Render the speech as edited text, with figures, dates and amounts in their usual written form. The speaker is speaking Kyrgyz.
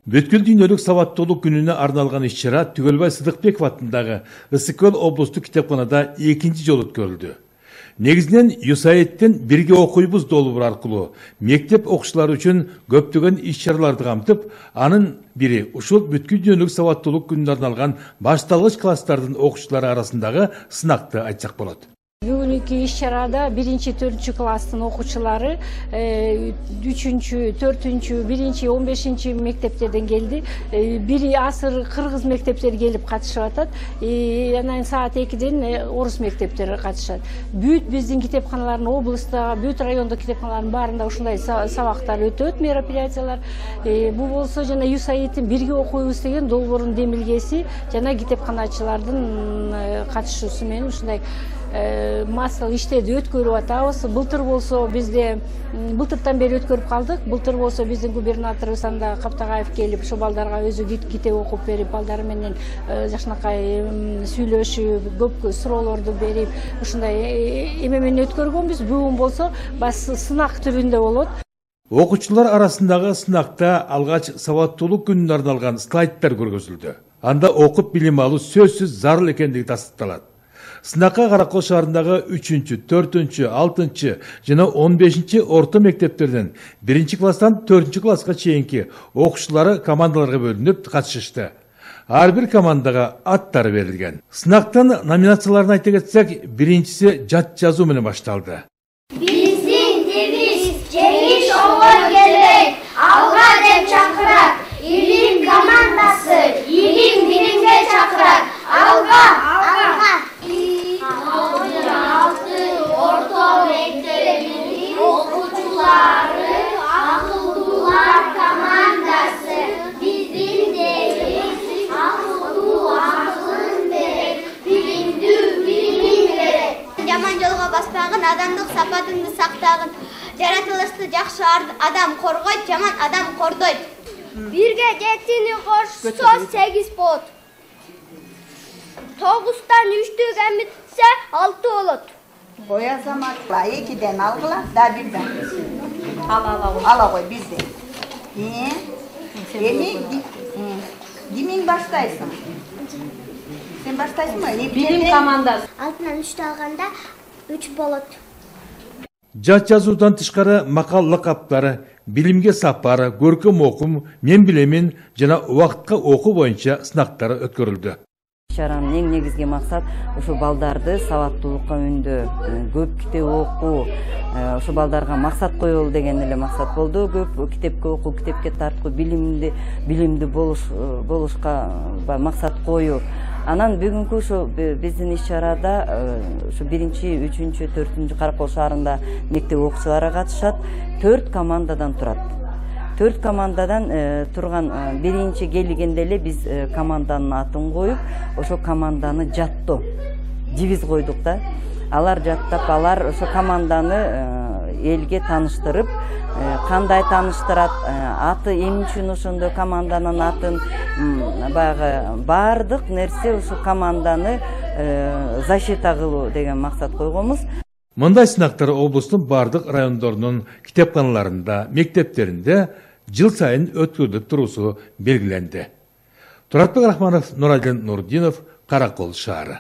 Бүткүл дүйнөлүк сабаттуулук күнүнө арналган иш-чара Түгөлбай Сыдыкбеков атындагы Ысык-Көл облустук китепканада экинчи жолу өткөрүлдү. Негизинен USAID-тен бирге окуйбуз долбоору аркылуу мектеп окуучулары үчүн көптөгөн иш-чараларды камтып, анын бири ушул бүткүл дүйнөлүк сабаттуулук күнүнө арналган башталгыч класстардын окуучулары арасындагы сынакты айтсак болот. Бүгүнкү иш-чарада 1-4 класстын окуучулары 3-4, 1-15 мектептерден келди. Бири асыр кыргыз мектептери келип катышып атат. Анан саат 2-ден орус мектептери катышат. Бүт биздин китепканалардын облустагы, бүт райондук китепканалардын баарында ушундай сабактар өтөт, мероприятиялар. Бул болсо жана USAID-тин бирге окуйбуз деген долбоорунун демилгеси жана китепканачылардын катышуусу менен ушундай массалык иштерди өткөрүп атабыз. Былтыр болсо бизде былтыртан бери өткөрүп калдык. Былтыр болсо биздин губернаторубуз анда Каптагаев келип, ошо балдарга өзү китеп окуп берип, балдар менен жакшынакай сүйлөшүп, көп суроолорду берип, ушундай эме менен өткөргөнбүз. Бүгүн болсо сынак түрүндө болот. Окуучулар арасындагы сынакта алгач сабаттуулук күнүнө арналган слайдтар көргөзүлдү. Анда окуп билим алуу сөзсүз зарыл экендиги тастыкталат. Сынакка Каракол шаарындагы 3-4, 6 жана 15 орто мектептерден 1-класстан 4-класска чейинки окуучулары командаларга бөлүнүп катышышты. Ар бир командага аттары берилген. Сынактын номинацияларын айта кетсек, биринчиси жат жазуу менен башталды. Биздин девиз жеңиш оңой келбейт, алга деп чакырат. Илим командасы, илим билимге чакырат. Алга, алга. Орто мектептин окуучулары, акылдуулар командасы. Биздин девиз акылдуу акылын берет, билимдүү билимин берет. Жаман жолго баспагын, адамдык сапатыңды сактагын. Жаратылышты жакшы адам коргойт, жаман адам кордойт. Бирге 7-ни кошсо 8 болот. 9-тан 3-тү кемитсе 6 болот. Кой азамат 2-ден алгыла, да 1-ден. Ала кой бизде. Эми кимиң баштайсың? Сен баштайсыңбы? Билим командасы. 6-тан 3-тү алганда 3 болот. Жат жазуудан тышкары макал лакаптары, билимге сапары, көркөм окум, мен билемин жана убакытка окуу боюнча сынактар өткөрүлдү. Иш-чаранын эң негизги максат ушу балдарды сабаттуулукка үндөө, көп китеп окуу, ушу балдарга максат коелу деген эле максат болду. Көп китепке окуу, китепке тарткуу, билимдүү болушка максат коюу. Анан бүгүнкү ушу биздин иш-чарада ушу 1-3, 4 Каракол шаарында мектеп окуучулары катышат. 4 командадан турат. 4 командадан турган биринчи келгенде эле биз команданын атын коюп, ошо команданы жаттоо, девиз койдук да. Алар жаттап, алар ошо команданы элге тааныштырып, кандай тааныштырат, аты эмне үчүн ошондой команданын атын, баягы баардык нерсе ошо команданы защита кылуу деген максат койгонбуз. Мындай сынактар облустун бардык райондорунун китепканаларында, мектептеринде жыл сайын өткөрүлүп туруусу белгиленди. Туратбек Рахманов, Нурайдын Нурдинов, Каракол шаары.